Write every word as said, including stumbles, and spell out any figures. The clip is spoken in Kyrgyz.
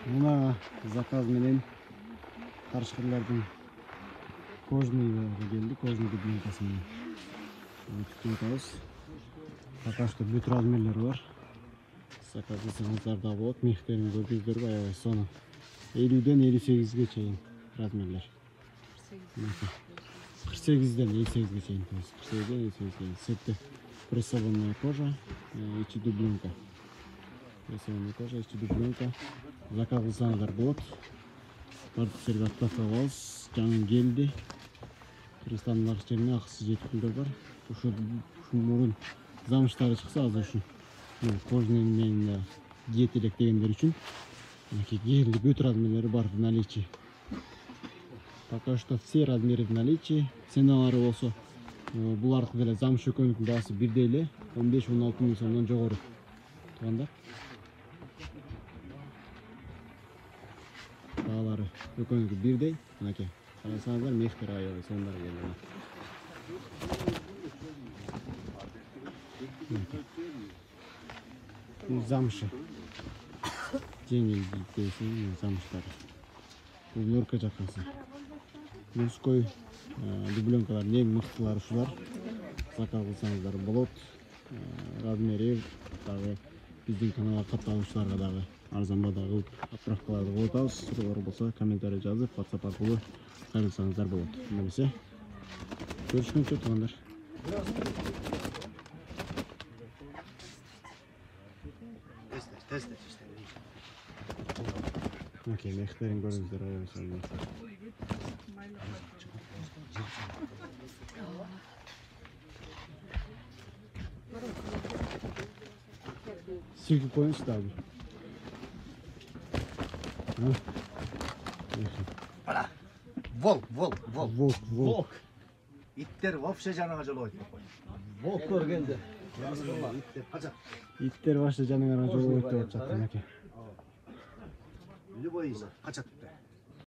Мына заказ менен карышкырлардын кожный келди, кожный дубленкасы менен. Күтүп атабыз. Пока что бүт размерлери бар. Заказ кылсаңыздар да болот. Мехтерин көрдүңүздөрбү, аябай сонун. элүүдөн элүү сегизге чейин размерлер. кырк сегизден элүү сегизге чейин. кырк сегизден элүү сегизге. Сетте прессованная кожа, ичи дубленка. Прессованная кожа, ичи дубленка. Заказ кылсаңыздар болот. Бардык жерге отправка кылабыз. Жаңы келди. Кыргызстандын ар жерине акысыз жеткилдер бар. Ушу мурун замыштары чыкса, азыр ушу кожный менен кийет элек дегендер үчүн келди, бүт размерлери бар в наличии. Пока что все размеры в наличии. Ценалары болсо булардыкы деле замыш экөөнүкүнүн баасы бирдей эле, он беш он алты миң сомдон жогору. Туугандар. Баалары экөөнүкү бирдей. Мынакей. Карасаңыздар, мехтер аябай сондар келди. Замши. Жеңил дейсиң, замыштар. Бул нөркө жаккасы. Мужской дубленкалар эң мыктылары ушулар. Заказ кылсаңыздар болот. Размери дагы биздин каналга катталуучуларга дагы арзанбада кылып отправкаларды кылып атабыз. Суроолор болсо комментарий жазып, WhatsApp аркылуу кайрылсаңыздар болот. Эмесе көрүшкөнчө туугандар. Окей, мехтерин көрүңүздөр, аябай сонун. Силкип коюңузчу дагы. Ана. Волк, волк, волк. Волк, волк. Иттер вообще жанага жолобойт. Волк көргөндө. Иттер качат. Иттер вообще жаныңарга жолобойт деп атышат, мынакей. Любой из качат.